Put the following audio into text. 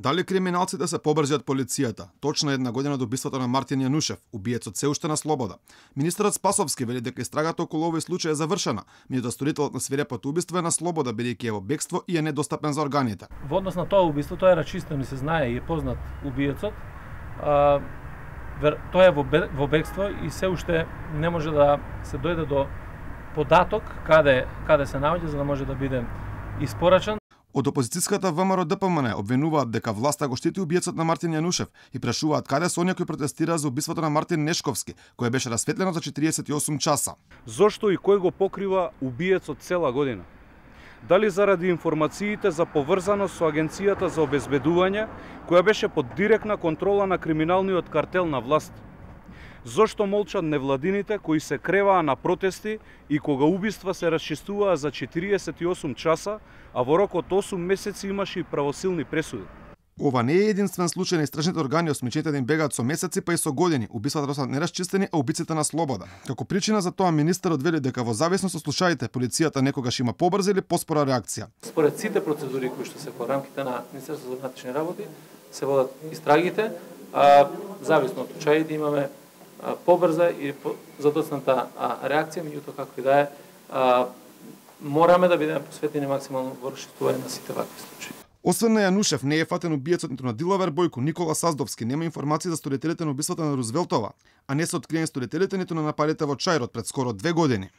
Дали криминалците се побрзи од полицијата? Точно една година до убиството на Мартин Јанушев, убиецот се уште на слобода. Министерот Спасовски вели дека истрагата околу овој случај е завршена, меѓутоа сторителот на свирепото убиство е на слобода бидејќи е во бегство и е недостапен за органите. Во однос на тоа убиство, тоа е рачистено и се знае и е познат убиецот. Тоа е во бегство и се уште не може да се дојде до податок каде се наоѓа за да може да биде испорачан. Од опозицијската ВМРО-ДПМН обвинуваат дека власта го штити убиецот на Мартин Јанушев и прашуваат каде се оние кои протестираа за убиството на Мартин Нешковски, кој беше расветлено за 48 часа. Зошто и кој го покрива убиецот цела година? Дали заради информациите за поврзаност со Агенцијата за обезбедување, која беше под директна контрола на криминалниот картел на власт? Зошто молчат невладините кои се креваа на протести и кога убиства се расчистуваа за 48 часа, а во рок од 8 месеци имаше и правосилни пресуди? Ова не е единствен случај на истражните органи, осмечените да им бегаат со месеци па и со години. Убиствата остаат нерасчистени, а убиците на слобода. Како причина за тоа министерот вели дека во зависност од случаите полицијата некогаш има побрза или поспора реакција. Според сите процедури кои што се во рамките на Министерството за внатрешни работи се водат истрагите, зависно од случаите имаме побрза и задоцната реакција, меѓутоа како и да е, мораме да бидеме посветени максимално во расчистување на сите вакви случаи. Освен на Јанушев, не е фатен убиецот ниту на Диловер Бојко, Никола Саздовски, нема информации за сторителите на убиството на Рузвелтова, а не се откриени сторителите ниту на нападите во Чајрот пред скоро 2 години.